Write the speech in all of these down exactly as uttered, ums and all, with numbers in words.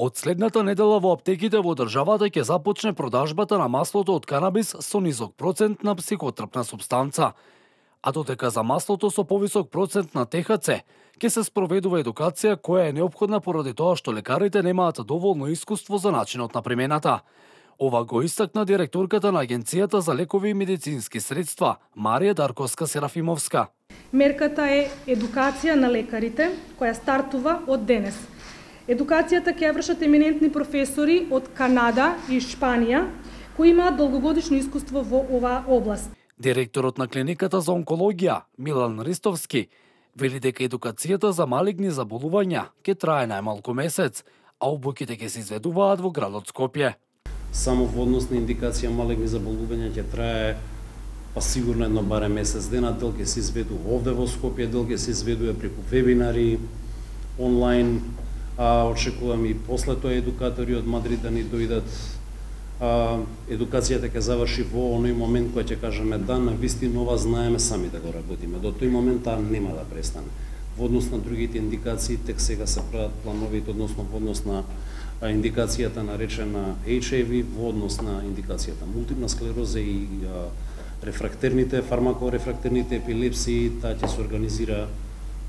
Од следната недела во аптеките во државата ќе започне продажбата на маслото од канабис со низок процент на психотрпна супстанца. А додека за маслото со повисок процент на Т Х Ц ќе се спроведува едукација која е неопходна поради тоа што лекарите немаат доволно искуство за начинот на примената. Ова го истакна директорката на Агенцијата за лекови и медицински средства, Марија Дарковска-Серафимовска. Мерката е едукација на лекарите, која стартува од денес. Едукацијата ќе вршат еминентни професори од Канада и Шпанија, кои имаат долгогодишно искуство во оваа област. Директорот на клиниката за онкологија, Милан Ристовски, вели дека едукацијата за малигни заболувања ќе трае најмалку месец, а обуките ќе се изведуваат во градот Скопје. Само во однос на индикација малигни заболувања ќе трае па сигурно едно барем месец дена, дел ќе се изведува овде во Скопје, дел ќе се изведува преку вебинари, онлайн, а очекувам и после тоа едукатори од Мадрид да ни дојдат. А, едукацијата ќе заврши во оној момент кој ќе кажеме да, на вистина ова знаеме сами да го работиме. До тој момент таа нема да престане. Во однос на другите индикации, тек сега се прават плановите, односно во однос на индикацијата наречена H I V, во однос на индикацијата мултипна склероза и а, рефрактерните, фармакорефрактерните епилепсии, таа ќе се организира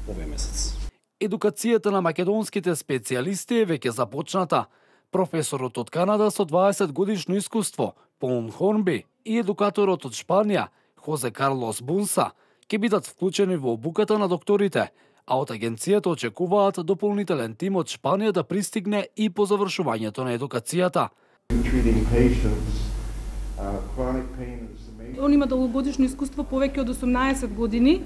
овој месец. Едукацијата на македонските специјалисти е веќе започната. Професорот од Канада со дваесет годишно искуство, Пол Хорнби, и едукаторот од Шпанија, Хозе Карлос Бунса, ќе бидат вклучени во обуката на докторите, а од агенцијата очекуваат дополнителен тим од Шпанија да пристигне и по завршувањето на едукацијата. Он има долгогодишно искуство повеќе од осумнаесет години,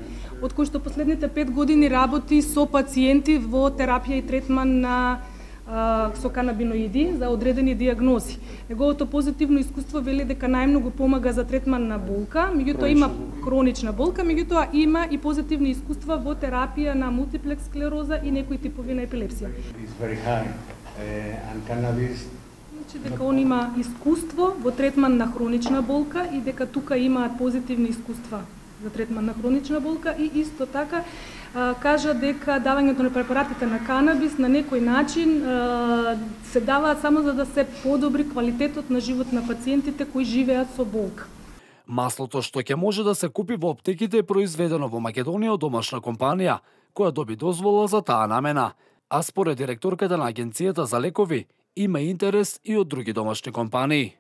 од кои што последните пет години работи со пациенти во терапија и третман на а, со канабиноиди за одредени диагнози. Неговото позитивно искуство вели дека најмногу помага за третман на болка, меѓутоа има хронична болка, меѓутоа има и позитивни искуства во терапија на мултиплекс склероза и некои типови на епилепсија. Дека он има искуство во третман на хронична болка и дека тука имаат позитивни искуства за третман на хронична болка и исто така а, кажа дека давањето на препаратите на канабис на некој начин а, се даваат само за да се подобри квалитетот на живот на пациентите кои живеат со болка. Маслото што ќе може да се купи во аптеките е произведено во Македонија од домашна компанија, која доби дозвола за таа намена. А според директорката на Агенцијата за лекови, има интерес и од други домашни компании.